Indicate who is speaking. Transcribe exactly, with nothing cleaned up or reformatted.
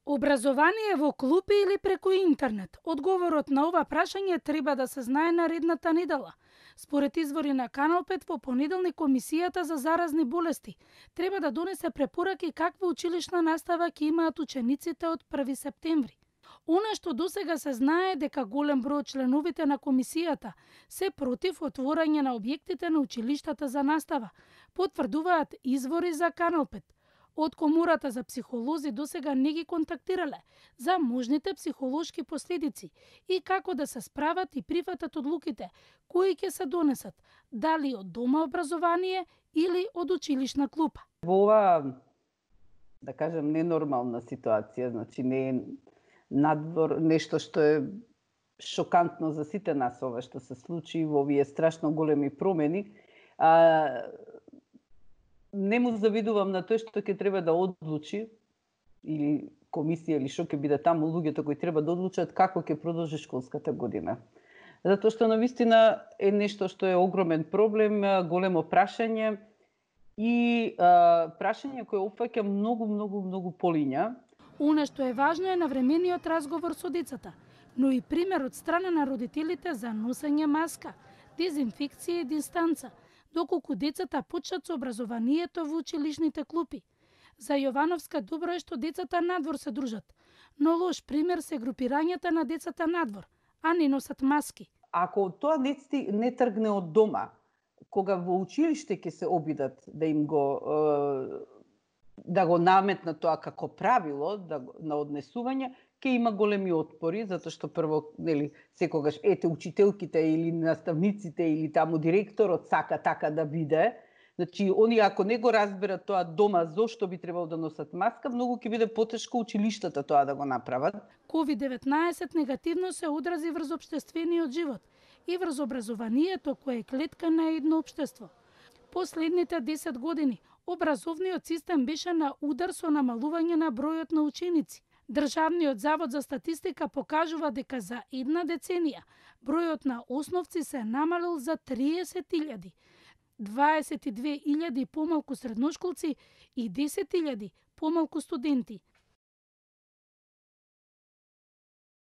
Speaker 1: Образование во клупи или преку интернет? Одговорот на ова прашање треба да се знае наредната недела. Според извори на Канал пет, во понеделник Комисијата за заразни болести треба да донесе препораки каква училишна настава ќе имаат учениците од први септември. Она што досега се знае дека голем број од членовите на комисијата се против отворање на објектите на училиштата за настава, потврдуваат извори за Канал пет. Од Комората за психолози досега не ги контактирале за можните психолошки последици и како да се справат и прифатат одлуките кои ќе се донесат, дали од дома образование или од училишна клупа.
Speaker 2: Во ова, да кажем, ненормална ситуација, значи не е надвор, нешто што е шокантно за сите нас, ова што се случи во овие страшно големи промени, а, не му завидувам на тој што ќе треба да одлучи, или комисија, или што ќе биде таму луѓето кои треба да одлучат како ќе продолжи школската година. Затоа што навистина е нешто што е огромен проблем, големо прашање и а, прашање кое опфаќа многу, многу, многу полиња.
Speaker 1: Она што е важно е навремениот разговор со децата, но и пример од страна на родителите за носење маска, дезинфекција и дистанца, доколку децата почнат со образованието во училишните клупи. За Јовановска добро е што децата надвор се дружат, но лош пример се групирањата на децата надвор, а не носат маски.
Speaker 2: Ако тоа не, не тргне од дома, кога во училиште ќе се обидат да им го да го наметнат тоа како правило да, на однесување, ќе има големи отпори, затоа што прво, нели, секогаш ете учителките или наставниците или таму директорот сака така да биде. Значи, они ако не го разберат тоа дома зошто би требало да носат маска, многу ќе биде потешко училиштата тоа да го направат.
Speaker 1: ковид деветнаесет негативно се одрази врз општествениот живот и врз образованието кое е клетка на едно општество. Последните десет години образовниот систем беше на удар со намалување на бројот на ученици. Државниот завод за статистика покажува дека за една деценија бројот на основци се намалил за триесет илјади, дваесет и две илјади помалку средношколци и десет илјади помалку студенти.